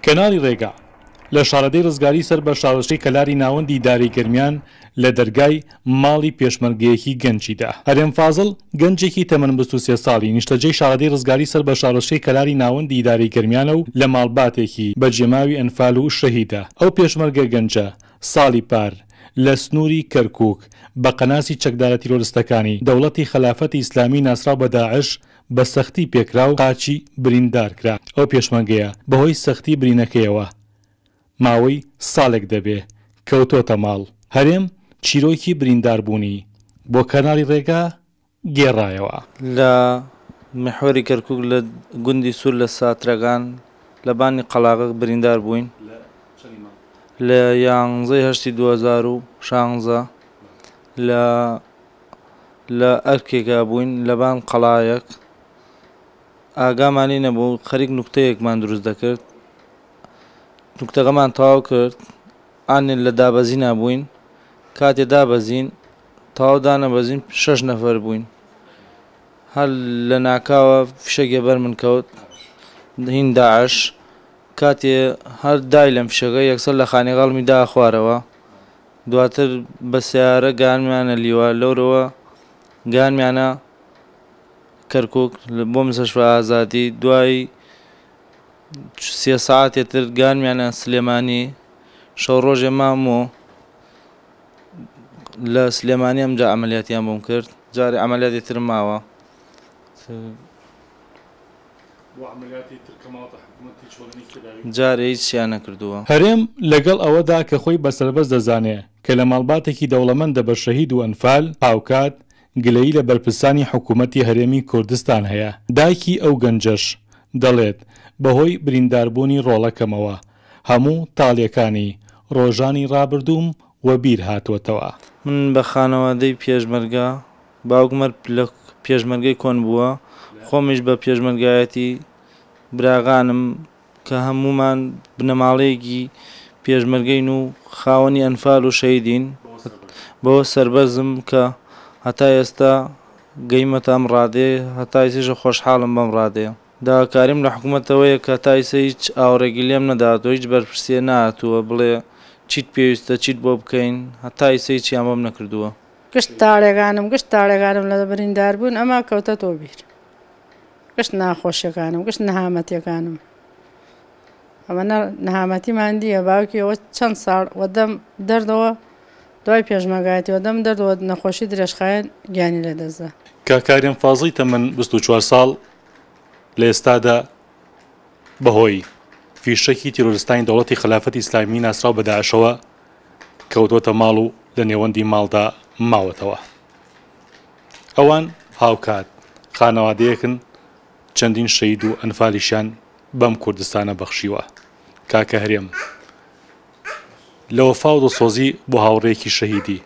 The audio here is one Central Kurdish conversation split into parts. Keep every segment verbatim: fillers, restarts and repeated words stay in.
کەناڵی ڕێگا لە شارەدێی ڕزگاری سەر بە شارۆچکەی کەلاری ناوەندی ئیدارەی گەرمیان لە دەرگای ماڵی پێشمەرگەیەکی گەنجیدا. هەرێم فازڵ گەنجێکی تەمەن بیست و سێ ساڵی نیشتەجێی شارەدێی ڕزگاری سەر بە شارۆچکەی کەلاری ناوەندی ئیدارەی گەرمیانە و لە ماڵباتێکی بەجێماوی ئەنفال و شەهیدە. ئەو پێشمەرگە گەنجە ساڵی پار لە سنووری کەرکووک بە قەناسی چەکدارە تیرۆرستەکانی دەوڵەتی خەلافەتی ئیسلامی ناسراو بە داعش بە سەختی پێکرا و قاچی بریندار کرا. ئەو پێشمەرگەیە بەهۆی سەختی برینەکەیەوە ماوەی ساڵێک دەبێ کەوتۆتە ماڵ. هەرێم چیرۆکی برینداربوونی بۆ کەناڵی ڕێگا گێڕایەوە. لە میحوەری کەرکووک لە گوندی سوور لە ساترەکان لە بانی قەلاغە بریندار بووین لە یانزەی هەشتی دوو هەزار و شانزە لە لە ئەرکێکا بووین لەبان قەڵایەک، ئاگامانی نەبوو، خەریک نوکتەیەکمان دروست دەکرد، نوکتەکەمان تەواو کرد، ئانێ لە دابەزینا بووین، کاتێ دابەزین تەواو دانەبەزین شەش نەفەر بووین، هەر لە ناکاوە فشەکێ بەر من کەوت هین داعش، کاتێ هەر دای لەم فشەکە یەکسەر لە خانەقاڵمی دا خوارەوە، دواتر بە سیارە گانمیانە لیوە لەورەوە گانمیانە کەرکووک بۆ مستەشفا ئازادی، دوای سێ سەعاتێ تر گانمیانە سلێمانی، شەو ڕۆژێ مامۆ لە سلێمانی ئەمجا عەمەلیاتیان بۆم کرد، جارێ عەمەلیاتی ترم ماوە. جارێ هیچیان نەکردووە. هەرێم لەگەڵ ئەوەدا کە خۆی بە سەربەست دەزانێ کە لە ماڵباتێکی دەوڵەمەندە بە شەهید و ئەنفال، هاوکات گلەیی لە بەرپرسانی حکوومەتی هەرێمی کوردستان هەیە. دایکی ئەو گەنجەش دەڵێت بەهۆی برینداربوونی ڕۆڵەکەمەوە هەموو تاڵیەکانی ڕۆژانی ڕابردووم وەبیر هاتووەتەوە. من بە خانەوادەی پێشمەرگە، باوکم هەر لە پێشمەرگەی کۆن بووە، خۆمیش بە پێشمەرگایەتی براغانم کە هەمومان بنەماڵەیەکی پێشمەرگەین و خاوەنی ئەنفال و شەهیدین، بەوە سەربەرزم کە هەتا ئێستا گەیمەتە ئەم ڕادەیە، هەتا ئێستاش خۆشحاڵم بەم ڕادەیە. داواکاریم لە حکوومەتەوەیە کە تا ئێستا هیچ ئاوڕێکی لێم نەداتەوە، هیچ بەرپرسیە نەهاتووە بڵێ چیت پێویستە چیت بۆ بکەین، هەتا ئێستا هیچیان بۆم نەکردووە. گشت تاڵێکانم گشت تاڵێکانم لە بریندار بوون ئەمە کەوتە تۆ بیر، گشت ناخۆشیەکانم گشت نەهامەتیەکانم، ئەمە نەهامەتیمان دییە. باوکی ئەوە چەند ساڵ وەدەم دەردەوە دوای پێشمەرگایەتی وەدەم دەردەوە نەخۆشی درێژخایەن گیانی لەدەستدا. کاک هەرێم فازڵی تەمەن بیست و چوار ساڵ لە ئێستادا بەهۆی فیشەکی تیرۆرستانی دەوڵەتی خەلافەتی ئیسلامی ناسراو بە داعشەوە کەوتووەتە ماڵ و لە نێوەندی ماڵدا ماوەتەوە. ئەوان هاوکات خانەوادەیەکن چەندین شەهید و ئەنفالیشیان بەم کوردستانە بەخشیوە. کاکە هەرێم لە وەفا و دڵسۆزی بۆ هاوڕێیەکی شەهیدی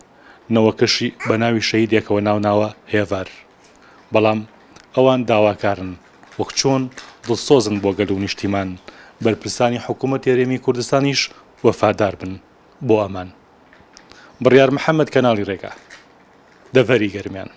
نەوەکەشی بە ناوی شەهیدێکەوە ناوناوە هێڤار، بەڵام ئەوان داواکارن وەک چۆن دڵسۆزن بۆ گەل و نیشتیمان، بەرپرسانی حکوومەتی هەرێمی کوردستانیش وەفادار بن بۆ ئەمان. بڕیار محەممەد، کەناڵی ڕێگا، دەڤەری گەرمیان.